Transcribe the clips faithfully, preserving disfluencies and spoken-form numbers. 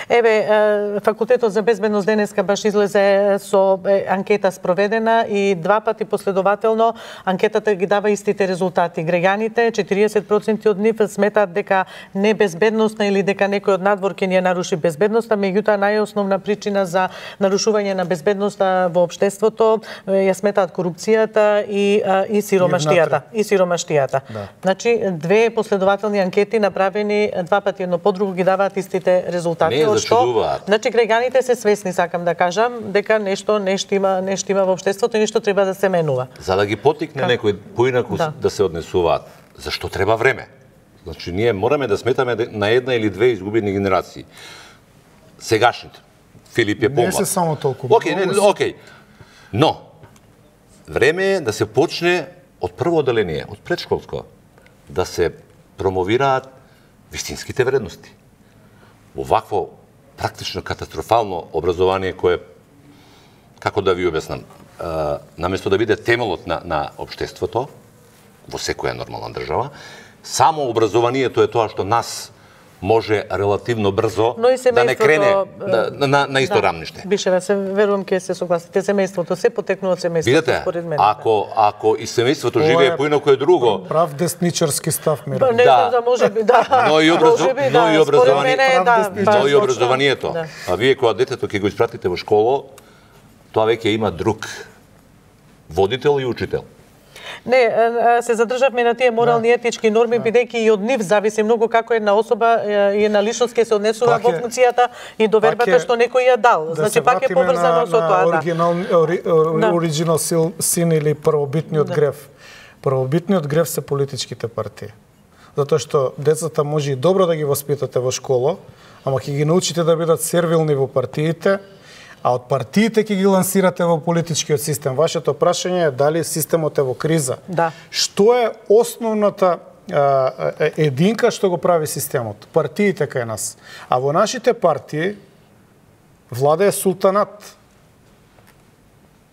Еве, факултетот за безбедност денеска баш излезе со анкета спроведена и два пати последователно анкетата ги дава истите резултати. Граѓаните, четириесет проценти од нив сметаат дека не безбедностна или дека некој од надвор ќе ни ја наруши безбедноста, меѓутоа најосновна причина за нарушување на безбедноста во општеството ја сметаат корупцијата и и сиромаштијата, и сиромаштијата. Да. Значи две последователни анкети направени два пати едно по друго ги даваат истите резултати. Не зачудуваат. Значи граѓаните се свесни, сакам да кажам, дека нешто нешто има, нешто има во општеството и нешто треба да се менува. За да ги потикне Как? некој поинаку Да. да се однесуваат, зашто треба време? Значи ние мораме да сметаме на една или две изгубени генерации. Сегашните. Филип е помлад. Не се само толку. Океј, не, океј. Но време е да се почне од прво оделение, од предшколско, да се промовираат вистинските вредности. Овакво практично катастрофално образование кое, како да ви објаснам, а, наместо да биде темелот на, на општеството, во секоја нормална држава, само образованието е тоа што нас може релативно брзо да не крене да, на, на исто да, рамниште. Бишева, се верувам ќе се согласите, семејството се потекнува од семејството. Видете, според мене. ако ако и семејството живее поинаку е друго, Прав десничарски став, Мира. Не знам да може би, да. Но и, образу... Може би, но да, и образование, според мене, да, но да, и образованието. Да. А вие кога детето ќе го испратите во школа, тоа веќе има друг водител и учител. Не, се задржавме на тие морални етички норми, бидејќи и од нив зависи многу како една особа и една личност ќе се однесува во функцијата и до вербата што некој ја дал. Да, значи пак е поврзано со тоа, да. Оригинал, ори, ори, оригинал син или првобитниот Да. греф. Првобитниот греф се политичките партии. Затоа што децата може и добро да ги воспитате во школа, ама ќе ги научите да бидат сервилни во партиите, а од партиите ќе ги лансирате во политичкиот систем. Вашето прашање е дали системот е во криза. Да. Што е основната а, единка што го прави системот? Партиите кај нас. А во нашите партии влада е султанат.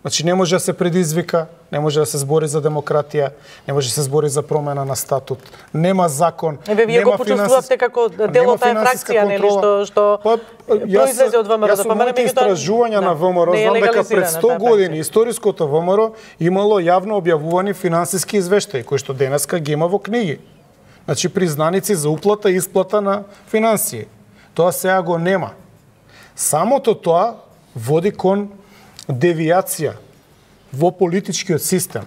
Значи не може да се предизвика, не може да се збори за демократија, не може да се збори за промена на статут, нема закон, Еве, вие нема го почувствувавте како дел од таа фракција, нели, што што па, произлезе од ВМРО. Јас со моите истражувања на ВМРО знам дека пред сто години историското ВМРО имало јавно објавувани финансиски извештаи, кои што денеска ги има во книги. Значи признаници за уплата и исплата на финансии. Тоа сега го нема. Самото тоа води кон девијација во политичкиот систем.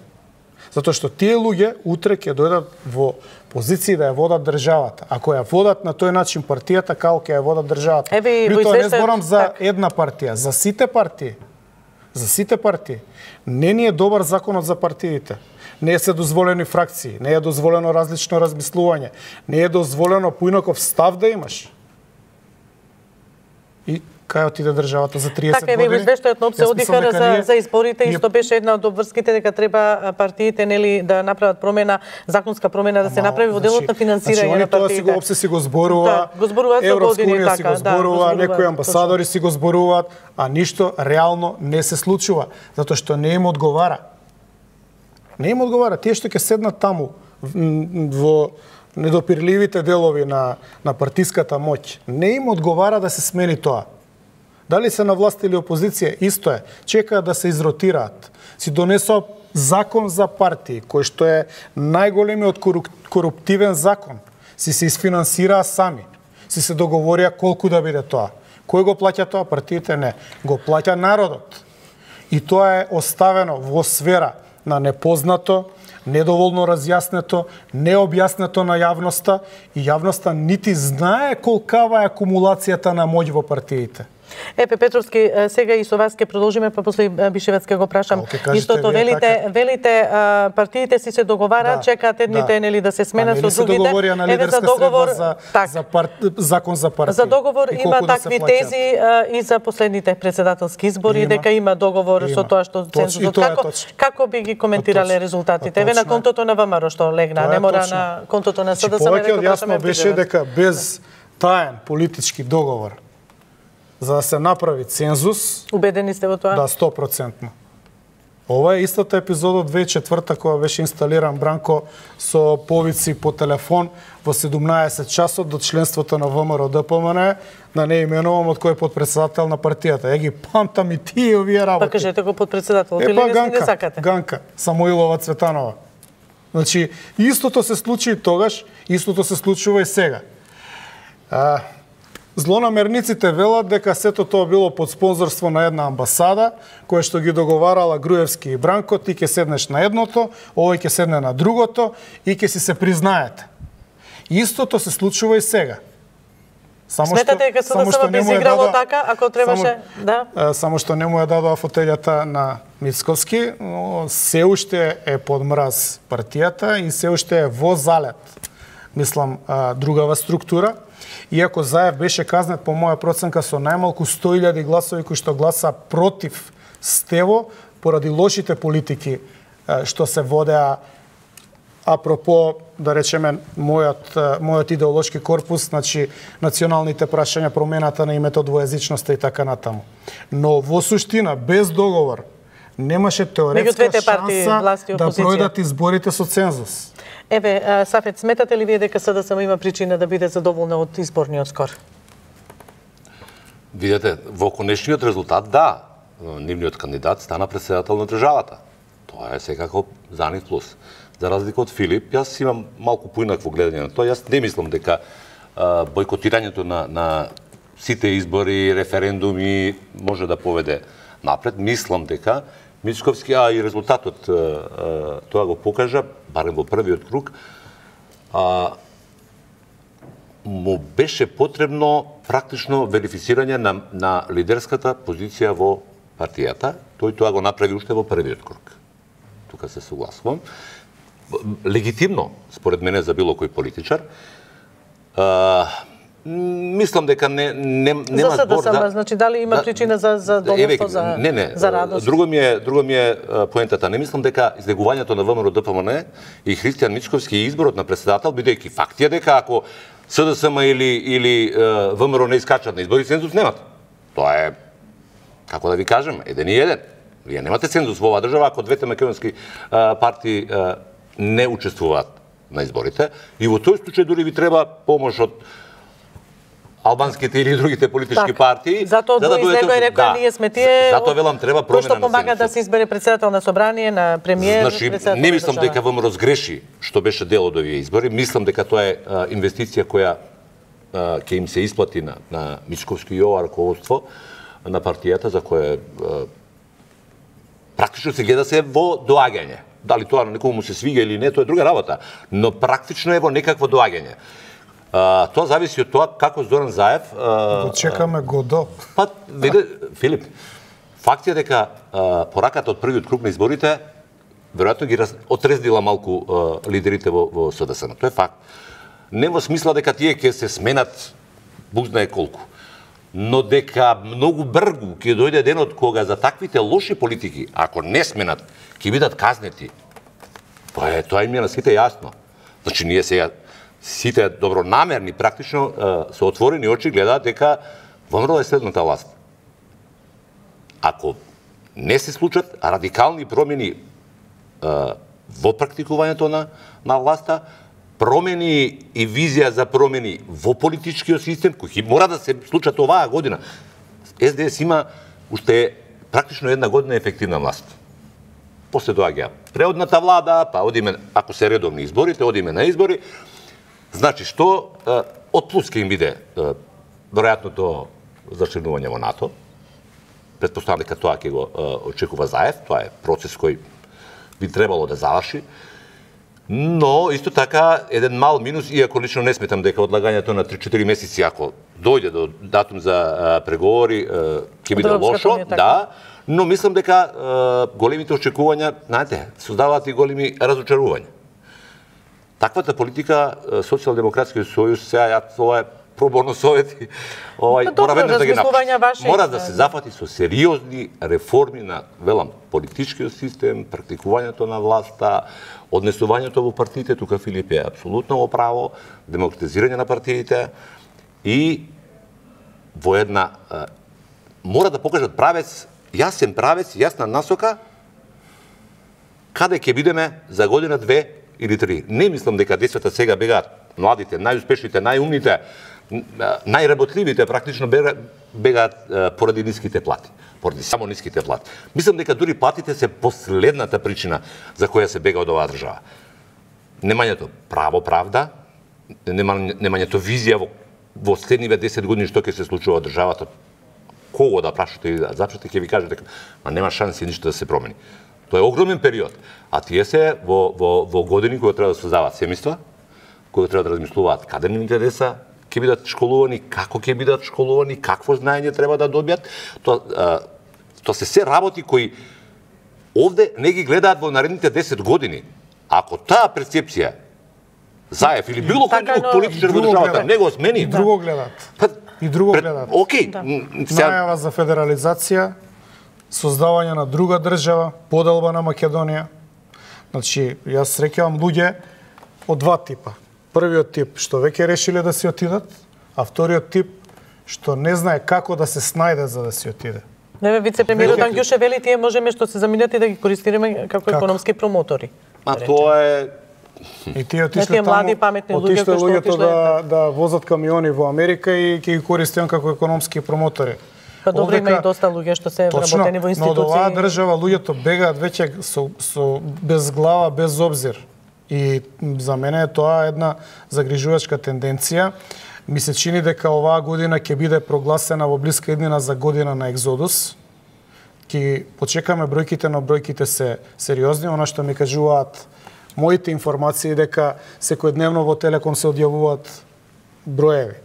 Затоа што тие луѓе утре ќе дојдат во позиции да ја водат државата. Ако ја водат на тој начин партијата, како ќе ја водат државата. Еве, При тоа не извештајот- зборам за так. една партија, за сите партии. За сите партии. Не ни е добар законот за партиите. Не е се дозволени фракции, не е дозволено различно размислување, не е дозволено поинаков став да имаш. И кај отиде државата за триесет така, еве, години? извештајот на ОПСЕ Јас одиха мислам дека за, ние- за изборите и ние- што беше една од обврските дека треба партиите, нели, да направат промена, законска промена да се Ама, направи во делот на финансирање значи, на они тоа партиите. си го ОПСЕ си го зборува, Да, го зборуваат за Европска години, унија си така, го да, зборува, го зборуваат, некои амбасадори си го зборуваат, а ништо реално не се случува, затоа што не им одговара. Не им одговара. Тие што ќе седнат таму м, во недопирливите делови на, на партиската моќ, не им одговара да се смени тоа. Дали се на власт или опозиција, исто е. Чекаат да се изротираат. Си донесоа закон за партии, кој што е најголемиот коруптивен закон. Си се изфинансираа сами. Си се договорија колку да биде тоа. Кој го плаќа тоа? Партиите не. Го плаќа народот. И тоа е оставено во сфера на непознато, недоволно разјаснето, необјаснето на јавноста и јавноста нити знае колкава е акумулацијата на моќ во партиите. Епе Петровски, сега и со вас ќе продолжиме, па после Бишевец ќе го прашам. Истото велите, така. велите а, партиите си се договараат, Да, чекаат едните да. нели да се сменат Па, со другите. Се договорија на Еве лидерска за договор, средба за, так, за пар... закон за партии. За договор И има колку да се такви плаќаат. тези а, и за последните председателски избори, Има. дека има договор Има. со тоа што Точ- цензусот. и тоа е Како, точно. како би ги коментирале Точно. резултатите? Еве Точно на е. контото на ВМРО што легна, Тоа не е мора точно. на контото на Значи, СДСМ. повеќе од јасно беше дека без таен политички договор за да се направи цензус, Убедени сте во тоа? да, сто проценти. Ова е истата епизода од две тисячи и четврта кога беше инсталиран Бранко со повици по телефон во седумнаесет часот до членството на ВМРО Д П М Н, да не именувам од кој подпредседател на партијата. Ја ги памтам и тие овие работи. Па кажете го подпредседател, или не не сакате? Ганка, Самоилова Цветанова. Значи, истото се случи и тогаш, истото се случува и сега. А, злонамерниците велат дека сето тоа било под спонзорство на една амбасада, која што ги договарала Груевски и Бранко, ти ќе седнеш на едното, овој ќе седне на другото и ќе си се признаете. Истото се случува и сега. Само Сметате дека СДСМ би изиграло така, ако требаше, само, да? Само што не му ја дадоа фотелјата на Мицковски, но се уште е под мраз партијата и се уште е во залет, мислам, другава структура. Иако Заев беше казнет по моја проценка со најмалку сто илјади гласови кои што гласа против Стево поради лошите политики што се водеа апропо, да речеме, мојот, мојот идеолошки корпус, значи националните прашања, промената на името, двојазичноста и така натаму. Но во суштина, без договор, немаше теоретска шанса да пројдат изборите со цензус. Еве, Сафет, сметате ли вие дека СДСМ има причина да биде задоволна од изборниот скор? Видете, во конечниот резултат, да, нивниот кандидат стана председател на државата. Тоа е секако за нив плюс. За разлика од Филип, јас имам малку поинакво гледање на тоа. Јас не мислам дека а, бойкотирањето на, на сите избори, референдуми може да поведе напред. Мислам дека Мицковски, а и резултатот а, а, тоа го покажа, барем во првиот круг, а, му беше потребно практично верифицирање на, на лидерската позиција во партијата. Тој тоа го направи уште во првиот круг. Тука се согласувам. Легитимно, според мене, за било кој политичар. А, мислам дека не, не, нема за збор да... Значи, дали има да, причина за, за доволство, за, не, не, за радост? Друго ми е, друго ми е поентата. Не мислам дека излегувањето на ВМРО Д П М Н и Христијан Мицковски и изборот на председател, бидејќи факт е дека ако СДСМ или, или ВМРО не искачат на избори, цензус немат. Тоа е, како да ви кажем, еден и еден. Вие немате цензус во оваа држава ако двете македонски партии не учествуваат на изборите. И во тој случај дури ви треба помош од албанските или другите политички так, партии. Затоа за да дојдете и рекоа, да, ние сме тие... Затоа велам треба промена на цензусот. Што помага да се избере председател на собрание, на премиер, значи, не мислам дека ВМРО сгреши што беше дел од овие избори. Мислам дека тоа е а, инвестиција која а, ќе им се исплати на, на Мицковски и ова раководство на партијата, за која а, практично се гледа се во доаѓање. Дали тоа на некому му се свига или не, тоа е друга работа, но практично е во некакво доаѓање. А, тоа зависи од тоа како Зоран Заев... Го чекаме годо. Па, виде, Филип, факт е дека а, пораката од првиот круг на изборите веројатно ги раз... отрездила малку а, лидерите во, во СДСМ. Тоа е факт. Не во смисла дека тие ќе се сменат буг знае колку. Но дека многу бргу ќе дојде денот кога за таквите лоши политики, ако не сменат, ќе бидат казнети. Тоа е, тоа им е на сите јасно. Значи, ние сега сите добронамерни, практично со отворени очи гледаат дека ВМРО е следната власт. Ако не се случат радикални промени во практикувањето на, на власта, промени и визија за промени во политичкиот систем, кои мора да се случат оваа година. С Д С има уште практично една година ефективна власт. После доаѓа преодната влада, па одиме, ако се редовни изборите, одиме на избори. Значи, што од плюс ќе им биде веројатното зачленување во НАТО. Претпоставам дека тоа ќе го очекува Заев, тоа е процес кој би требало да заврши. Но, исто така, еден мал минус, иако лично не сметам дека одлагањето на три-четири месеци, ако дојде до датум за преговори, ќе биде лошо, да, но мислам дека големите очекувања, знаете, создаваат и големи разочарувања. Таквата политика, Социјалдемократскиот сојуз, сега ја ова е проборно совети, овај мора веднаш да ги напушти. Мора да се зафати со сериозни реформи на, велам, политичкиот систем, практикувањето на власта, однесувањето во партиите, тука Филип е апсолутно во право, демократизирање на партиите и во една мора да покажат правец, јасен правец, јасна насока каде ќе бидеме за година, две или три. Не мислам дека децата сега бегаат, младите, најуспешните, најумните, најработливите практично бегаат поради ниските плати, поради само ниските плати. Мислам дека дури платите се последната причина за која се бега од оваа држава. Немањето право правда, немањето визија во, во следниве десет години што ќе се случува во државата, кого да прашате и да запрашате, ќе ви каже дека ма нема шанси ништо да се промени. Тоа е огромен период, а тие се во, во, во години кои треба да создаваат семејства, кои треба да размислуваат каде нивните деца ќе бидат школувани, како ќе бидат школувани, какво знаење треба да добијат. Тоа, тоа се се работи кои овде не ги гледаат во наредните десет години. Ако таа перцепција Заев или било кој друг политичар во државата не го смени, и друго гледаат. Па, и друго пред, гледаат. Окей. Да. Најава за федерализација, создавање на друга држава, поделба на Македонија. Значи, јас среќавам луѓе од два типа. Првиот тип што веќе решиле да си отидат, а вториот тип што не знае како да се снајде за да си отиде. Не, вице-премиерот Ангјуше вели тие можеме што се заминат и да ги користиме како економски промотори. А тоа е и тие отишле таму, млади паметни луѓе кои што отишле да да возат камиони во Америка и ќе ги користат како економски промотори. Па добро, има и доста луѓе што се вработени во институции. Но од оваа држава луѓето бегаат веќе со, со без глава, без обзир. И за мене е тоа една загрижувачка тенденција. Ми се чини дека оваа година ќе биде прогласена во блиска иднина за година на екзодус. Ќе почекаме бројките, но бројките се сериозни. Она што ми кажуваат моите информации дека секојдневно во Телеком се одјавуваат броеви.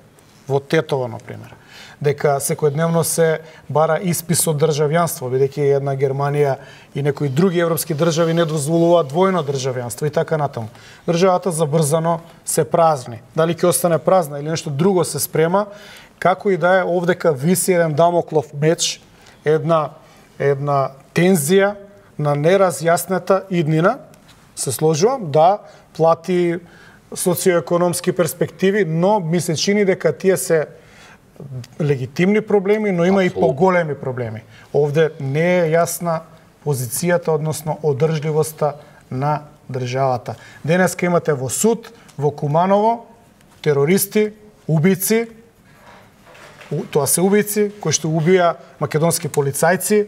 Во Тетово, например. Дека секојдневно се бара испис од државјанство, бидејќи една Германија и некои други европски држави не дозволуваат двојно државјанство и така натаму. Државата забрзано се празни. Дали ќе остане празна или нешто друго се спрема, како и да е, овдека виси еден дамоклов меч, една една тензија на неразјаснета иднина. Се сложувам, да, плати социоекономски перспективи, но ми се чини дека тие се легитимни проблеми, но има Абсолютно. И поголеми проблеми. Овде не е јасна позицијата, односно одржливоста на државата. Денеска имате во суд, во Куманово, терористи, убици, тоа се убици, кои што убија македонски полицајци,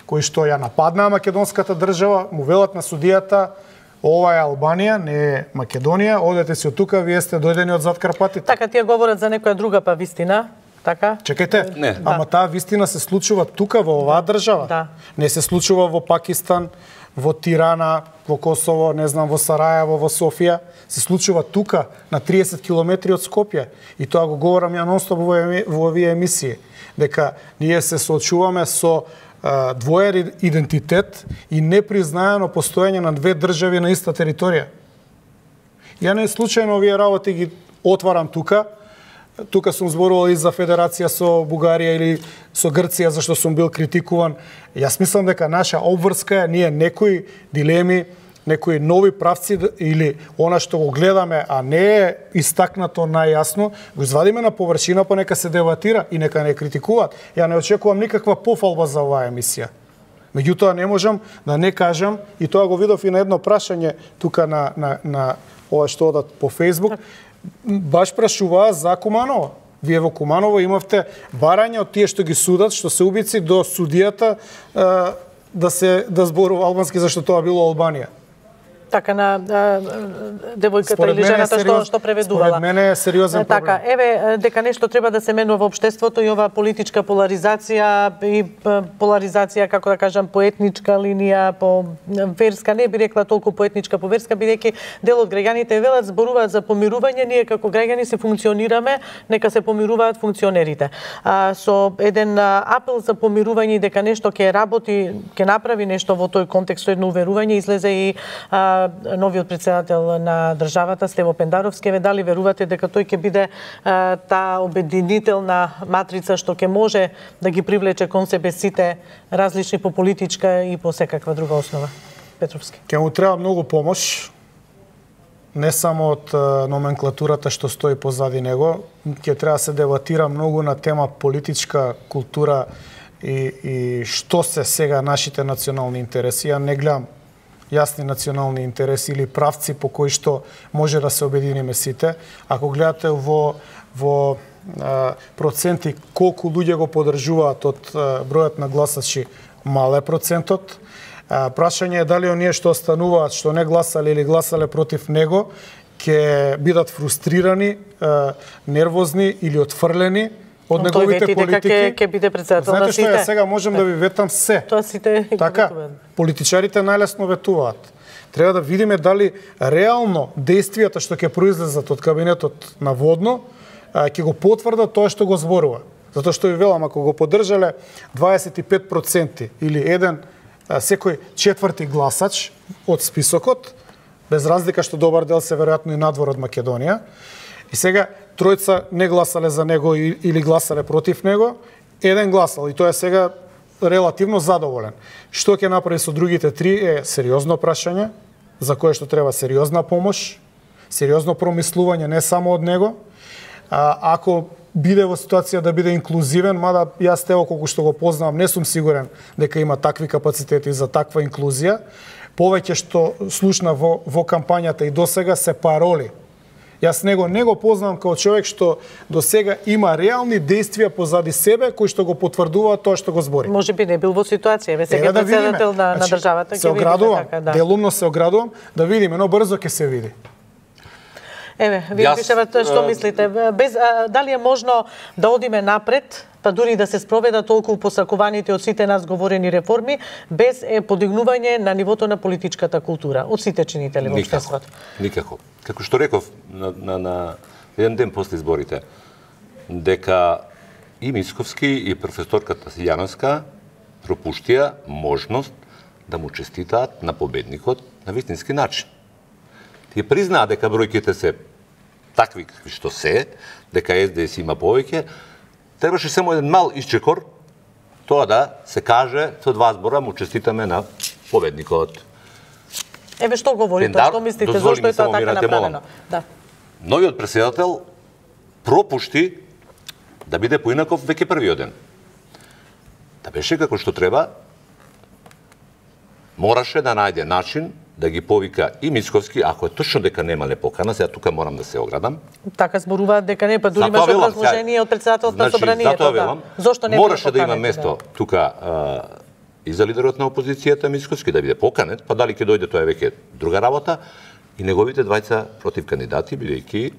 кои што ја нападнаа македонската држава, му велат на судијата, ова е Албанија, не е Македонија, одете си од тука, вие сте дојдени од зад Карпатите. Така тие говорат за некоја друга па вистина, така? Чекајте, не. Ама да. Таа вистина се случува тука во оваа држава. Да. Не се случува во Пакистан, во Тирана, во Косово, не знам, во Сарајево, во Софија. Се случува тука, на триесет километри од Скопје. И тоа го говорам ја нонстоп во, во овие емисии. Дека ние се соочуваме со двоен идентитет и непризнаено постоење на две држави на иста територија. Ја не случајно овие работи ги отварам тука. Тука сум зборувал и за федерација со Бугарија или со Грција, зашто сум бил критикуван. Јас мислам дека наша обврска е ние некои дилеми, некои нови правци или она што го гледаме, а не е истакнато најјасно, го извадиме на површина, па нека се дебатира и нека не критикуваат. Ја не очекувам никаква пофалба за оваа емисија. Меѓутоа не можам да не кажам, и тоа го видов и на едно прашање тука на, на, на ова што одат по Фејсбук, баш прашуваа за Куманово. Вие во Куманово имавте барања од тие што ги судат, што се убици, до судијата да се да зборува албански зашто тоа било Албанија. Така на девојката или жената што што преведувала. Според мене е сериозен проблем. Така, еве дека нешто треба да се менува во општеството и ова политичка поларизација и поларизација, како да кажам, по етничка линија, по верска, не би рекла толку по етничка, по верска, бидејќи дел од граѓаните велат зборуваат за помирување, ние како граѓани се функционираме, нека се помируваат функционерите. А, со еден апел за помирување дека нешто ќе работи, ќе направи нешто во тој контекст, едно уверување, излезе и а, новиот председател на државата Стево Пендаровски. Ве дали верувате дека тој ќе биде а, таа обединителна матрица што ќе може да ги привлече кон себе сите различни по политичка и по секаква друга основа? Петровски. Ќе му треба многу помош, не само од номенклатурата што стои позади него, ќе треба да се дебатира многу на тема политичка култура и, и што се сега нашите национални интереси. Ја не гледам јасни национални интереси или правци по кои што може да се обединиме сите. Ако гледате во во а, проценти колку луѓе го поддржуваат од а, бројот на гласачи, мал е процентот. А, прашање е дали оние што остануваат, што не гласале или гласале против него, ќе бидат фрустрирани, а, нервозни или отфрлени од неговите политики. Тој ќе биде председател на сите. Знаете што е, сега можем да ви ветам се. Тоа сите така, политичарите најлесно ветуваат. Треба да видиме дали реално действијата што ќе произлезат од кабинетот на Водно ќе го потврдат тоа што го зборува. Затоа што ви велам, ако го поддржале дваесет и пет проценти или еден секој четврти гласач од списокот, без разлика што добар дел се веројатно и надвор од Македонија, и сега тројца не гласале за него или гласале против него, еден гласал и тоа е сега релативно задоволен. Што ќе направи со другите три е сериозно прашање, за кое што треба сериозна помош, сериозно промислување не само од него. А, ако биде во ситуација да биде инклузивен, мада јас тео колку што го познавам, не сум сигурен дека има такви капацитети за таква инклузија. Повеќе што слушна во, во кампањата и досега се пароли. Јас него не го познавам како човек што до сега има реални действија позади себе кои што го потврдуваат тоа што го збори. Може би не бил во ситуација, ве сега да председател на, на државата ќе види така, да. Делумно се оградувам да видиме, но брзо ќе се види. Еве, вие пишевате што мислите. Без, а, дали е можно да одиме напред, па дури да се спроведат толку посакуваните од сите нас говорени реформи, без е подигнување на нивото на политичката култура, од сите чинители во општеството? Никако. Како што реков на, на, на еден ден после изборите, дека и Мицковски и професорката Јановска пропуштија можност да му честитаат на победникот на вистински начин. Тие признаа дека бројките се такви какви што се, дека Ес Де Ес има повеќе, требаше само еден мал исчекор, тоа да се каже со два збора му честитаме на победникот. Еве што говорите, што мислите, зошто е тоа така направено? Да. Новиот претседател пропушти да биде поинаков веќе првиот ден. Да беше како што треба, мораше да најде начин да ги повика и Мицковски, ако е точно дека немале покана, сега тука морам да се оградам. Така зборуваат дека не, па дури имаше образложение од председателот на собранието. Затоа велам, зошто не мораше да има место тука а, и за лидерот на опозицијата Мицковски да биде поканет, па дали ќе дојде тоа е веќе друга работа, и неговите двајца против кандидати, бидејќи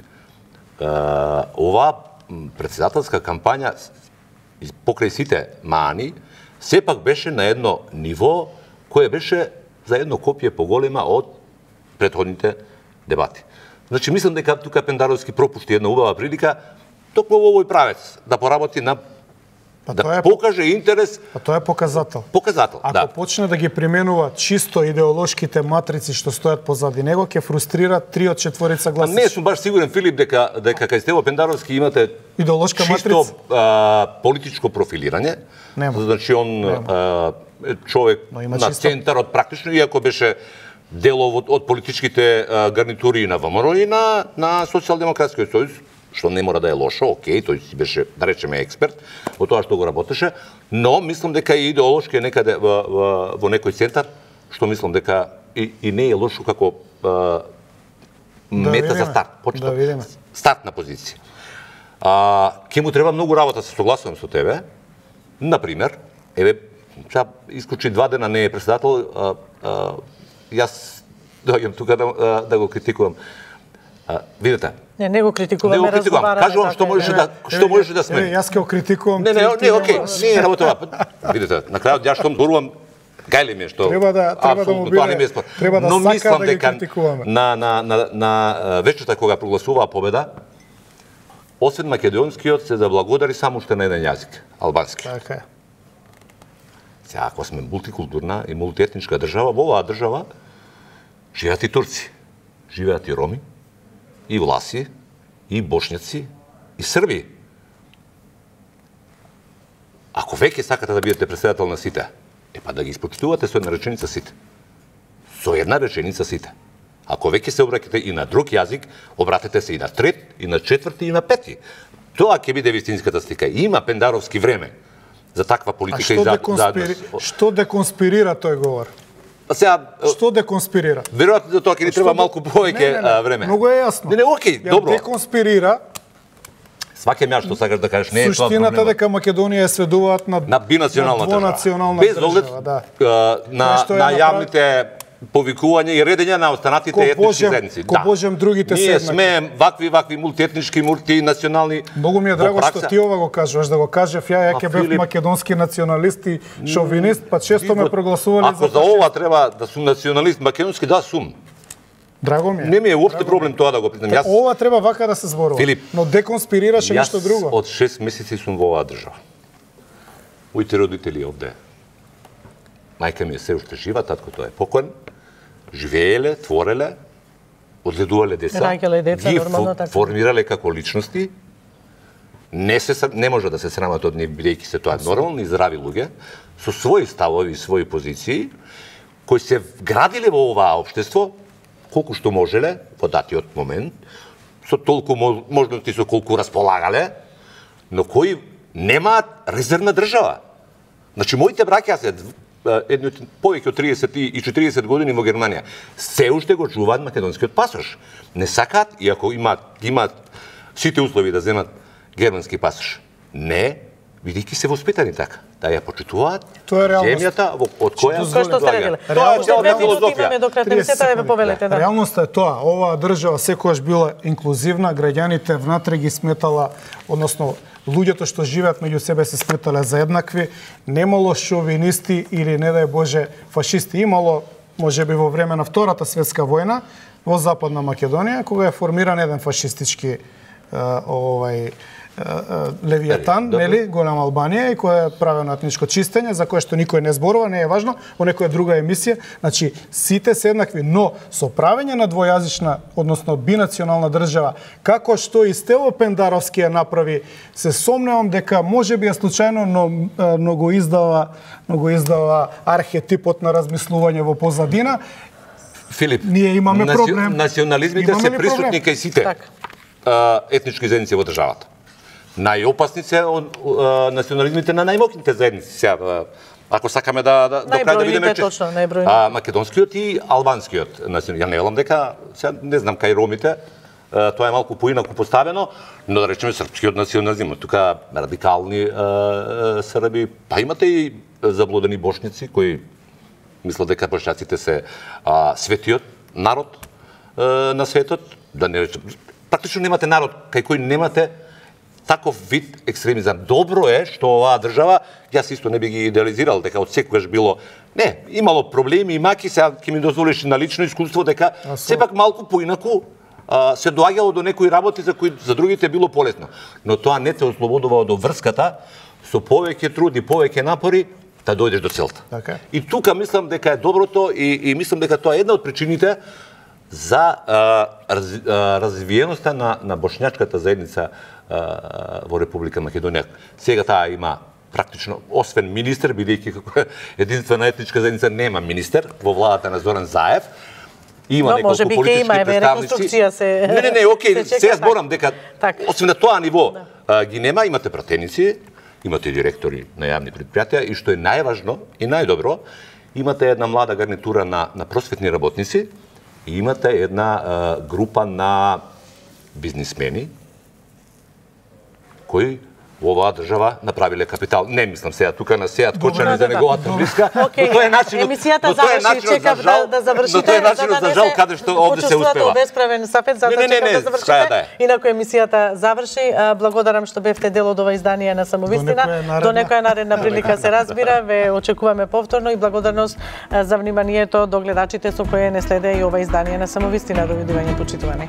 оваа председателска кампања покрај сите маани, сепак беше на едно ниво кое беше за едно копие поголема од претходните дебати. Значи, мислам дека тука Пендаровски пропушти една убава прилика токму во овој правец да поработи на па да е, покаже интерес. А тоа е показател. Показател, Ако да. почне да ги применува чисто идеолошките матрици што стојат позади него, ќе фрустрира три од четворица гласачи. Не сум баш сигурен, Филип, дека дека кај Стево Пендаровски имате идеолошка чисто матрица? а, политичко профилирање. Нема. Значи он а, е човек на чисто центарот практично, иако беше делов од, од политичките а, гарнитури на ВМРО и на на Социјалдемократскиот сојуз, што не мора да е лошо, окей, тој си беше, да речеме, експерт во тоа што го работеше, но мислам дека и идеолошки е некаде во, во, во некој центар, што мислам дека и, и не е лошо како а, да мета видиме, за старт, почета, да видиме. стартна позиција. А, ке му треба многу работа, се согласувам со тебе. Например, еве, сега исклучи два дена не е председател, а, а, јас доаѓам тука да, да го критикувам. А, видите, Не, не го критикуваме, не го критикувам. разговараме. Кажувам што можеше да што можеше да смени. Јас ќе го критикувам. Не, не, не, окей, не е работа. Видите, на крајот ја што зборувам, гајле ми е што треба да треба да му биде, треба да но сака мислам да ги дека критикуваме. на на на на вечерта кога прогласуваа победа, освен македонскиот се заблагодари само уште на еден јазик, албански. Така е. Сега, ако сме мултикултурна и мултиетничка држава, во оваа држава живеат и турци, живеат и роми, и власи, и бошњаци, и срби. Ако веќе сакате да бидете председател на сите, е па да ги испочитувате со една реченица сите. Со една реченица сите. Ако веќе се обраќате и на друг јазик, обратете се и на трет, и на четврти, и на пети. Тоа ќе биде вистинската слика. Има Пендаровски време за таква политика. А што, и за, деконспири... за... што деконспирира тој говор? Па сега Што деконспирира? веројатно за тоа ќе ни треба малку повеќе време. Многу е јасно. Не, не, окей, Ја добро. Деконспирира. Сваќам ја што сакаш да кажеш, не е тоа суштината проблемот. дека Македонија е сведуваат на На бинационална на двонационална држава. Без оглед држава, да. а, на, што е на направи- јавните повикувања и редења на останатите Ко етнички божем- заедници. ко божем другите Ние седнати. сме вакви, вакви мултиетнички, мултинационални. Многу ми е Во драго пракса- што ти ова го кажуваш, да го кажев ја, ја Па, ќе бев Филип, македонски националист и шовинист, па често ме Видно, прогласувале Ако за фашист. ова треба да сум националист македонски, да сум. Драго ми е. Не ми е уопште проблем тоа да го признам. Јас Ова треба вака да се зборува. Филип, но деконспирираше Јас нешто друго. од шест месеци сум во оваа држава. Моите родители овде. Мајка ми е се уште жива, таткото е покоен. Живееле, твореле, одгледувале деца, Раѓале деца, ги нормално фо- така. формирале како личности. Не се ср- не може да се срамат од нив бидејќи се тоа нормални и здрави луѓе со своји ставови и своји позиции кои се градиле во оваа општество колку што можеле во датиот момент, со толку мо- можности со колку располагале, но кои немаат резервна држава. Значи, моите браќа се едни од повеќе од триесет и четириесет години во Германија, се уште го чуваат македонскиот пасош. Не сакаат, иако имаат, имаат сите услови да земат германски пасош. Не, бидејќи се воспитани така. Да ја почитуваат Тоа е реалност. земјата во- од која Кој што сте рекли? Тоа е Реално- Уште цела две минути филозофија. имаме до крај на триесет емисијата, да ве секунди. повелете, да. Реалноста е тоа, оваа држава секогаш била инклузивна, граѓаните внатре ги сметала, односно луѓето што живеат меѓу себе се сметале за еднакви, немало шовинисти или не дај Боже фашисти, имало можеби во време на Втората светска војна во Западна Македонија кога е формиран еден фашистички е, овај Левијатан, Добро. нели, голема Албанија и која е правено етничко чистење за кое што никој не зборува, не е важно, во некоја друга емисија. Значи, сите се еднакви, но со правење на двојазична, односно бинационална држава, како што и Стево Пендаровски ја направи, се сомневам дека можеби е случајно, но, но го издава, но го издава архетипот на размислување во позадина. Филип, Ние имаме национи- проблем. Национализмите Имаме се ли присутни проблем? кај сите Така. а, етнички заедници во државата. Најопасни се од а, национализмите на најмокните заедници. Сега, а, ако сакаме да, да до крај да Најбројните, видиме чест- точно, најбројните. А, македонскиот и албанскиот национализм. Ја не велам дека, сега не знам кај ромите, а, тоа е малку поинаку поставено, но да речеме српскиот национализм. Тука радикални а, а, срби, па имате и заблудени бошници кои мислат дека бошњаците се а, светиот народ а, на светот, да не речем, практично немате народ кај кој немате таков вид екстремизам. Добро е што оваа држава, јас исто не би ги идеализирал дека од секогаш било, не, имало проблеми и маки, сега ќе ми дозволиш на лично искуство дека сепак малку поинаку а, се доаѓало до некои работи за кои за другите било полесно. Но тоа не те ослободува од врската со повеќе труд и повеќе напори да дојдеш до целта. Така е. И тука мислам дека е доброто и, и мислам дека тоа е една од причините за а, раз, а, развиеноста на, на бошњачката заедница а, во Република Македонија. Сега таа има практично, освен министер, бидејќи како единствена етничка заедница нема министер во владата на Зоран Заев, има Но, неколку можеби ќе политички има, еве, представници. реконструкција се- Не, не, не, окей, се чека, сега така. зборам дека Така. освен на тоа ниво а, ги нема, имате пратеници, имате директори на јавни предпријатија и што е најважно и најдобро, имате една млада гарнитура на, на просветни работници и имате една а, група на бизнисмени кои во оваа држава направиле капитал. Не мислам сега тука на Сеат Кочани да, за да. неговата блиска, Окей, но тоа е начинот. емисијата но тоа е заврши, начинот чекав за жал, да, да завршите, но тоа е начинот да за не жал се каде што овде се почувствувате успева. обесправен сафет, затоа Не, не, не, чекав не, да завршите. крај да е. Инаку емисијата заврши. А, Благодарам што бевте дел од ова издание на Самовистина. До некоја наредна. До некоја наредна прилика се разбира. Ве очекуваме повторно и благодарност а, за вниманието до гледачите со кои не следе и ова издание на Самовистина. Довидување, почитувани.